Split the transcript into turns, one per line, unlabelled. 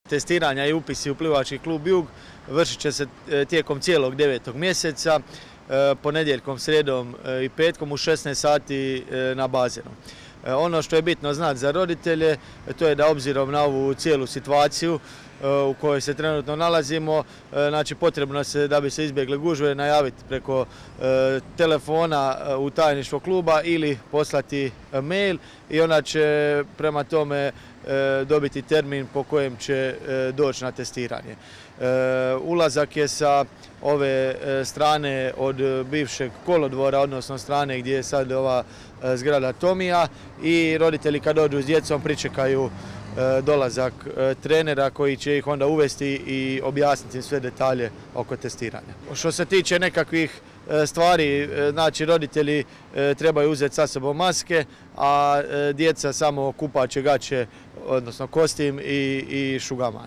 Testiranja i upisi u plivački klub Jug vršit će se tijekom cijelog 9. mjeseca, ponedjeljkom, srijedom i petkom u 16 sati na bazenu. Ono što je bitno znati za roditelje, to je da obzirom na ovu cijelu situaciju u kojoj se trenutno nalazimo, znači potrebno se, da bi se izbjegle gužve, najaviti preko telefona u tajništvo kluba ili poslati mail i ona će prema tome dobiti termin po kojem će doći na testiranje. Ulazak je sa ove strane od bivšeg kolodvora, odnosno strane gdje je sad ova zgrada Tomija, i roditelji kad dođu s djecom pričekaju dolazak trenera koji će ih onda uvesti i objasniti sve detalje oko testiranja. Što se tiče nekakvih stvari, znači roditelji trebaju uzeti sa sobom maske, a djeca samo kupaće gaće, odnosno kostim i šugaman.